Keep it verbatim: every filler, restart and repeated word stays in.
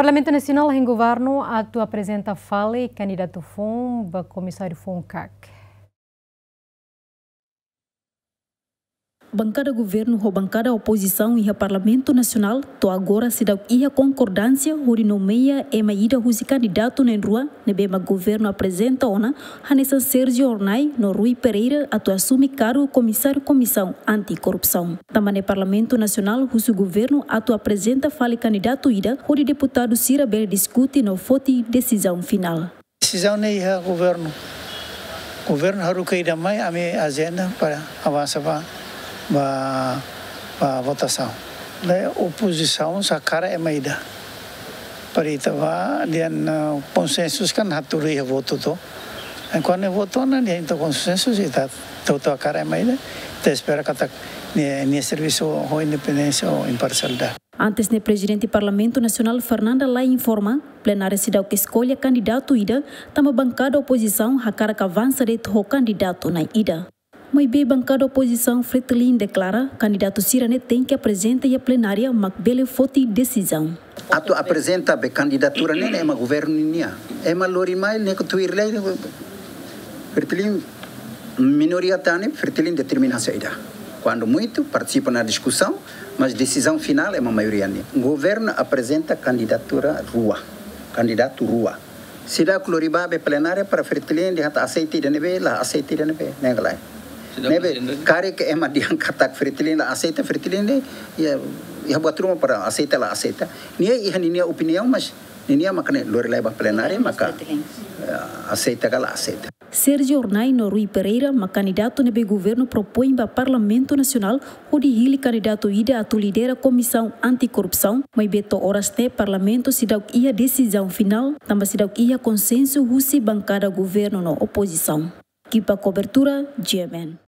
Parlamentu Nasionál hein governu atu aprezenta fali kandidatu foun ba komisáriu foun kak. Bankada governu ho bankada opozisaun iha Parlamentu Nasionál to'o agora seidauk iha konkordánsia hodi nomeia ema ida husi kandidatu na'in-rua ne'ebé mak governu aprezenta ona hanesan Sérgio Hornai no Rui Pereira atu asume kargu komisáriu Komisaun Anti-Korrupsaun. Tanba ne'e Parlamentu Nasionál husu governu atu aprezenta fali kandidatu ida hodi deputadu sira bele diskute no foti desizaun finál. Desizaun ne'e iha governu. Governu haruka ida mai, ami ajenda para avansa ba, ba, ba votasaun. Ne'e opozisaun sei hakarak ema ida. Para ita ba, dehan, eh, konsensu kan hatudu iha votu to. Kuandu votu ne'e dehan ita konsensu, ita atu, atu hakarak ema ida. Ita espera katak nia, nia servisu ho independénsia, ho imparsialidade. Antes ne'e Prezidente Parlamentu Nasionál Fernanda Lay informa, plenária seidauk eskolla kandidatu ida, tanba bankada opozisaun hakarak avansa de'it ho kandidatu na'in ida. Maibé bankada opozisaun Fretilin deklara, kandidatu sira-ne'e tenke aprezenta iha plenária mak bele foti desizaun. Atu aprezenta be kandidatura ne'e, ne'e ema governu nian. Ema lori mai ne'e ko tuir lei, Fretilin minoria tan ne'e, Fretilin determina saida. Kuandu muitu, partisipa ona diskusaun, mas desizaun finál ema maioria nian. Governu aprezenta kandidatura rua, kandidatu rua. Seidauk lori ba be plenária para Fretilin dehan ita aseita ida ne'ebé, la aseita ida ne'ebé, ne'e ka lae. Seidauk Ne'ebé, aseita. Karik ema dehan katak Fretilin la aseita, Fretilin ne'e, iha, iha buat ruma para aseita la aseita. Nia iha ninia opiniaun, mas ninia maka ne'e lori lai ba plenária, Nia maka, Fretilin. Eh, aseita ka la aseita. Sérgio Hornai no Rui Pereira mak kandidatu ne'ebé governu propoin ba Parlamentu Nasionál hodi hili kandidatu ida atu lidera Komisaun Anti-Korrupsaun, maibé to'o oras ne'e Parlamentu seidauk iha desizaun finál, tanba seidauk iha konsensu husi bankada governu no opozisaun. Ekipa kobertura, G M N.